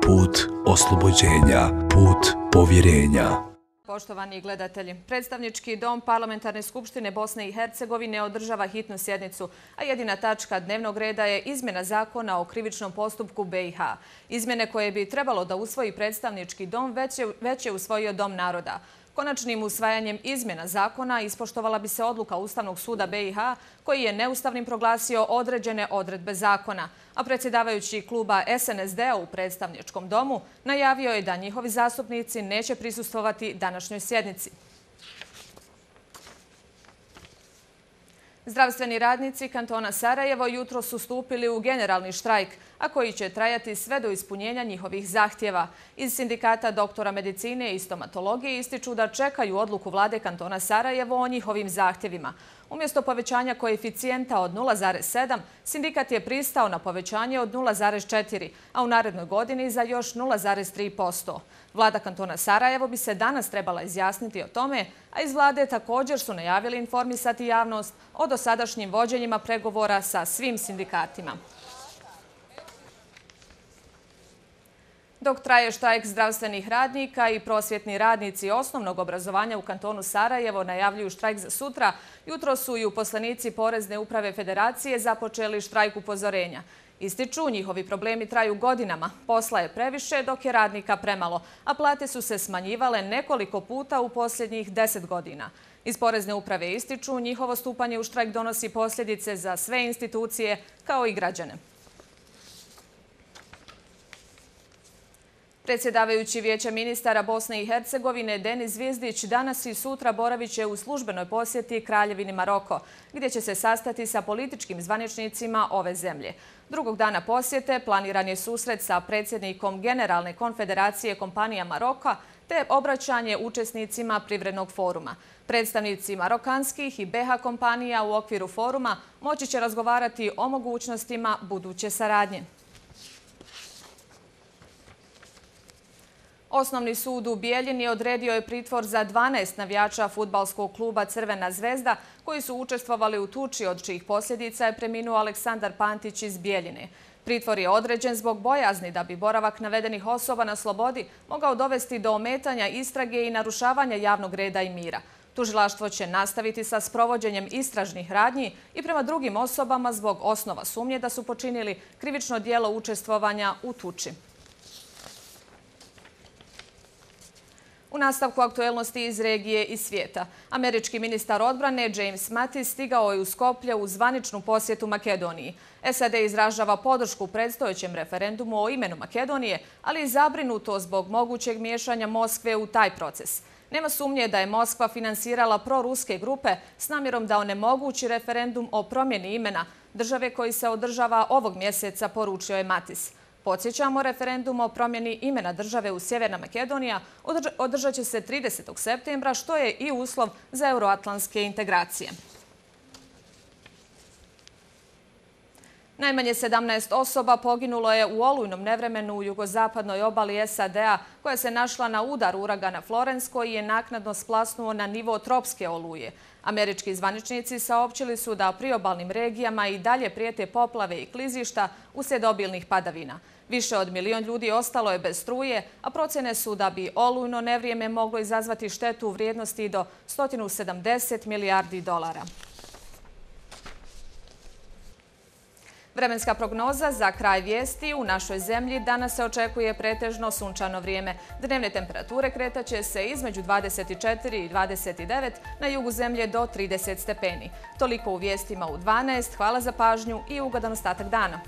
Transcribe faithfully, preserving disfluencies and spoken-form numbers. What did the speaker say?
put oslobođenja, put povjerenja. Poštovani gledatelji, Predstavnički dom Parlamentarne skupštine Bosne i Hercegovine održava hitnu sjednicu, a jedina tačka dnevnog reda je izmjena zakona o krivičnom postupku B i H. Izmjene koje bi trebalo da usvoji Predstavnički dom već je, već je usvojio Dom naroda. Konačnim usvajanjem izmjena zakona ispoštovala bi se odluka Ustavnog suda B i H koji je neustavnim proglasio određene odredbe zakona, a predsjedavajući kluba S N S D-a u Predstavničkom domu najavio je da njihovi zastupnici neće prisustvovati današnjoj sjednici. Zdravstveni radnici kantona Sarajevo jutro su stupili u generalni štrajk, a koji će trajati sve do ispunjenja njihovih zahtjeva. Iz sindikata doktora medicine i stomatologije ističu da čekaju odluku vlade kantona Sarajevo o njihovim zahtjevima. Umjesto povećanja koeficijenta od nula zarez sedam, sindikat je pristao na povećanje od nula zarez četiri, a u narednoj godini za još nula zarez tri posto. Vlada kantona Sarajevo bi se danas trebala izjasniti o tome, a iz vlade također su najavili informisati javnost o dosadašnjim vođenjima pregovora sa svim sindikatima. Dok traje štrajk zdravstvenih radnika i prosvjetni radnici osnovnog obrazovanja u kantonu Sarajevo najavljuju štrajk za sutra, jutro su i uposlenici Porezne uprave Federacije započeli štrajk upozorenja. Ističu, njihovi problemi traju godinama, posla je previše dok je radnika premalo, a plate su se smanjivale nekoliko puta u posljednjih deset godina. Iz Porezne uprave ističu, njihovo stupanje u štrajk donosi posljedice za sve institucije kao i građane. Predsjedavajući Vijeća ministara Bosne i Hercegovine Denis Zvijezdić danas i sutra boravit će u službenoj posjeti Kraljevini Maroko, gdje će se sastati sa političkim zvaničnicima ove zemlje. Drugog dana posjete planiran je susret sa predsjednikom Generalne konfederacije kompanija Maroka te obraćanje učesnicima privrednog foruma. Predstavnici marokanskih i B H kompanija u okviru foruma moći će razgovarati o mogućnostima buduće saradnje. Osnovni sud u Bijeljini odredio je pritvor za dvanaest navijača fudbalskog kluba Crvena zvezda koji su učestvovali u tuči od čijih posljedica je preminuo Aleksandar Pantić iz Bijeljine. Pritvor je određen zbog bojazni da bi boravak navedenih osoba na slobodi mogao dovesti do ometanja istrage i narušavanja javnog reda i mira. Tužilaštvo će nastaviti sa sprovođenjem istražnih radnji i prema drugim osobama zbog osnova sumnje da su počinili krivično djelo učestvovanja u tuči. U nastavku aktuelnosti iz regije i svijeta, američki ministar odbrane James Mattis stigao je u Skoplje u zvaničnu posjetu Makedoniji. S A D izražava podršku predstojećem referendumu o imenu Makedonije, ali i zabrinuto zbog mogućeg miješanja Moskve u taj proces. Nema sumnje da je Moskva finansirala proruske grupe s namjerom da onemogući referendum o promjeni imena države koji se održava ovog mjeseca, poručio je Mattis. Podsjećamo, referendum o promjeni imena države u Sjeverna Makedonija održat će se tridesetog septembra, što je i uslov za euroatlantske integracije. Najmanje sedamnaest osoba poginulo je u olujnom nevremenu u jugozapadnoj obali S A D-a koja se našla na udar uragana Florence koji je naknadno splasnuo na nivo tropske oluje. Američki zvaničnici saopćili su da priobalnim regijama i dalje prijete poplave i klizišta uslijed obilnih padavina. Više od milion ljudi ostalo je bez struje, a procjene su da bi olujno nevrijeme moglo izazvati štetu u vrijednosti do sto sedamdeset milijardi dolara. Vremenska prognoza za kraj vijesti: u našoj zemlji danas se očekuje pretežno sunčano vrijeme. Dnevne temperature kretaće se između dvadeset četiri i dvadeset devet, na jugu zemlje do trideset stepeni. Toliko u vijestima u dvanaest. Hvala za pažnju i ugodan ostatak dana.